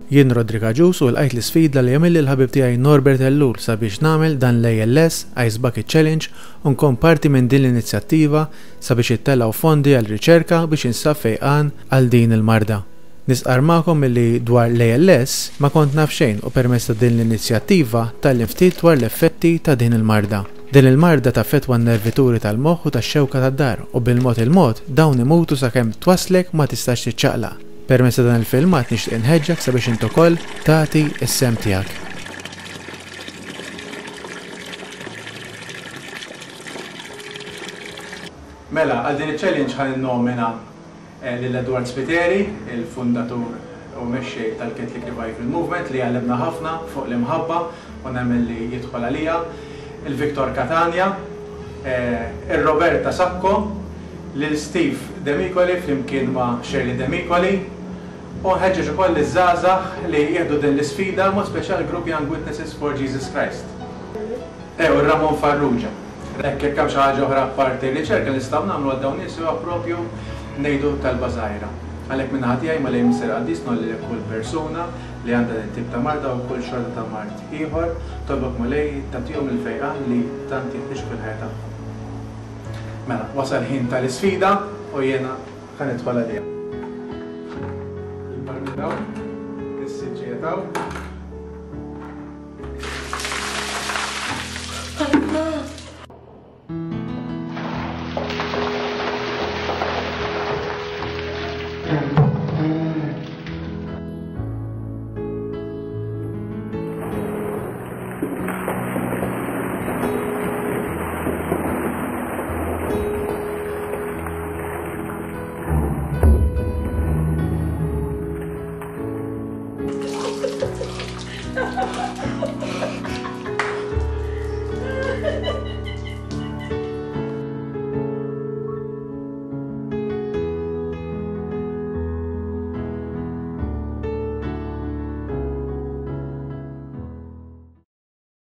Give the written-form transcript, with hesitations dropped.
Jien Roderick Agius u lqajt l-isfida li għamilli l-ħabib tiegħi Norbert Ellul sabiex nagħmel dan l-ALS Ice Bucket Challenge u nkun parti minn din l-inizjattiva sabiex jittellgħu fondi għal riċerka biex jinsab fejqan għal din il-marda. Nistqarr magħkom illi dwar l-ALS ma kont naf xejn u permezz ta' din l-inizjattiva tgħallimt ftit dwar l-effetti ta' din il-marda. Din il-marda taffettwa n-nervituri tal-moħħ u tax-xewka tad-dahar u bil-mod il-mod dawn imutu sakemm twasslek ma tistax tiċċaqlaq. Permezz ta' dan il-filmat nixtieq inħeġġek sabiex int ukoll tagħti s-sehem tiegħek. Mela, għal din iċ-challenge ħa ninnomina lil Edward Spiteri, il-fundatur u mexxej tal-Catholic Revival Movement li għallimna ħafna fuq l-imħabba u nemmen li jidħol għaliha, il-Victor Catania, ir-Roberta Sacco, lil Steve Demicoli flimkien ma' Shirley Demicoli u nħeġġeġ ukoll liż-żgħażagħ li jieħdu din l-isfida, mod speċjali l-grupp Young Witnesses for Jesus Christ. E u Ramon Farrugia. Hekk jekk hemm xi ħaġa oħra apparti r-riċerka li nistgħu nagħmlu għal dawn nies huwa propju ngħidu talba żgħira. Għalhekk min-naħa tiegħi Mulej Missier Qaddis ngħolli lil kull persuna li għandha din it-tip ta' marda u kull xorta ta' mard ieħor, tolbok Mulej tagħtihom il-fejqan li tant jeħtieġu fil-ħajja tagħhom. Mela, wasal ħin tal-isfida u jiena ħa nidħol għaliha. Il-barmil hawn, is-siġġijiet hawn.